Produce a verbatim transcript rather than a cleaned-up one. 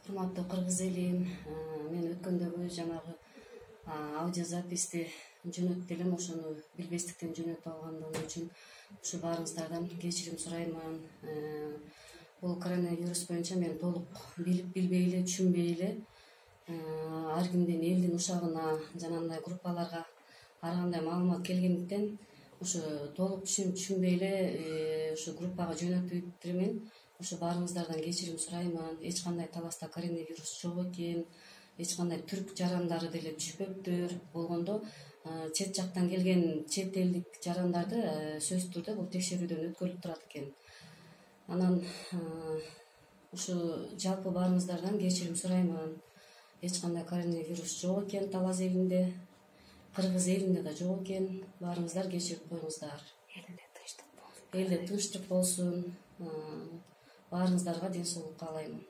Урматтуу кыргыз элим, мен өткөндөгү жанагы аудиозаписти жөнөттү элем, ошону билбестиктен жөнөтүп алгандыгым үчүн ушу баарыңыздардан кечирим сураймын. Бул коронавирус боюнча мен толук билип билбей эле, түшүнбөй эле ар кимдин элдин ушагына жана мындай группаларга ар кандай маалымат келгендиктен ушу толук түшүнбөй эле ушу группага жөнөтүп элемин. Ошо баарыңыздардан кечирим сураймын. Эч кандай таласта коронавирус жок экен, эч кандай түрк жарандары деле түшпөптүр. Болгондо чет жактан келген чет элдик жарандарды сөзсүз түрдө бул текшерүүдөн өткөрүлүп турат экен. Анан ушу жалпы баарыңыздардан кечирим сураймын. Эч кандай коронавирус жок экен Талас элинде, кыргыз элинде да жок экен. Баарыңыздар кечирип коюңуздар. Элде тынчтык болсун. Элде тынчтык болсун. Баарыңыздарга ден соолук каалаймын.